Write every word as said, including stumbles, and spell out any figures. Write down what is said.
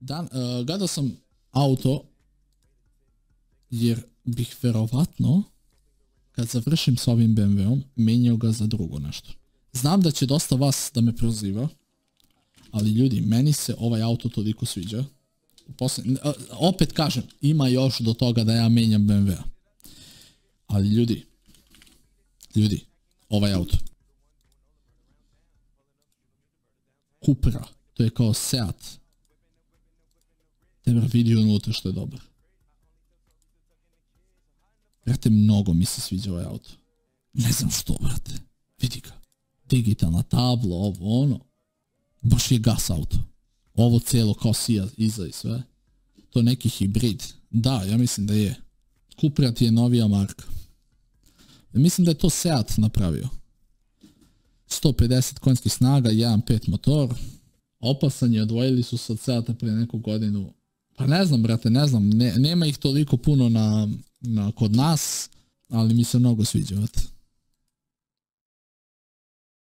Dan, uh, gledao sam auto jer bih verovatno kad završim s ovim B M W-om menjao ga za drugo nešto. Znam da će dosta vas da me proziva, ali ljudi, meni se ovaj auto toliko sviđa. Posljednji, uh, opet kažem, ima još do toga da ja menjam B M W-a. Ali ljudi, ljudi, ovaj auto. Cupra, to je kao Seat. Tebra vidi unutra što je dobar. Brate, mnogo mi se sviđa ovaj auto. Ne znam što, brate. Vidi ga. Digitalna tabla, ovo, ono. Baš je gas auto. Ovo cijelo kao sija iza i sve. To je neki hibrid. Da, ja mislim da je. Cupra ti je novija marka. Mislim da je to Seat napravio. sto pedeset konjskih snaga, jedan zarez pet motor. Opasan je, odvojili su se od Seata prije neku godinu. Pa ne znam, brate, ne znam. Ne, nema ih toliko puno na, na, kod nas, ali mi se mnogo sviđa, brate.